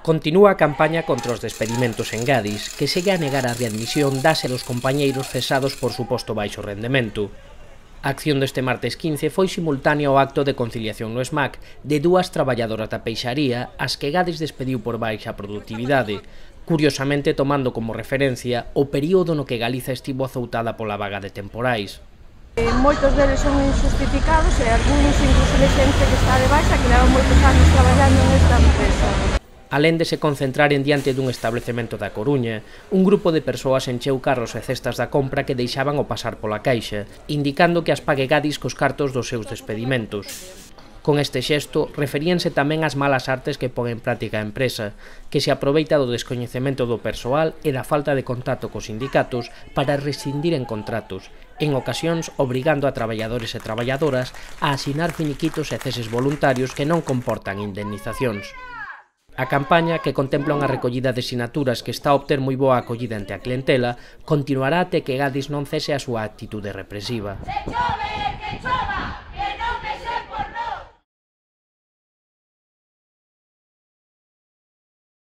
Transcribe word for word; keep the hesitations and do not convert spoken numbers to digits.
Continúa a campaña contra os despedimentos en Gadis, que segue a negar a readmisión das e dos compañeiros cesados por suposto baixo rendemento. A acción deste martes quince foi simultánea ao acto de conciliación no SMAC de dúas traballadoras da peixaría as que Gadis despediu por baixa produtividade, curiosamente tomando como referencia o período no que Galiza estivo azoutada pola vaga de temporais. Moitos deles son injustificados e algúns incluso de xente que está de baixa que leva moitos anos traballando nesta empresa. Alén de se concentrar en diante dun establecemento da Coruña, un grupo de persoas encheu carros e cestas da compra que deixaban o pasar pola caixa, indicando que as pague Gadis cos cartos dos seus despedimentos. Con este xesto, referíanse tamén ás malas artes que pon en práctica a empresa, que se aproveita do descoñecemento do persoal e da falta de contacto cos sindicatos para rescindir en contratos, en ocasións obrigando a traballadores e traballadoras a asinar finiquitos e ceses voluntarios que non comportan indemnizacións. A campaña, que contempla unha recollida de sinaturas que está a obter moi boa acollida ante a clientela, continuará até que Gadis non cese a súa actitude represiva. ¡Que chove, que chova!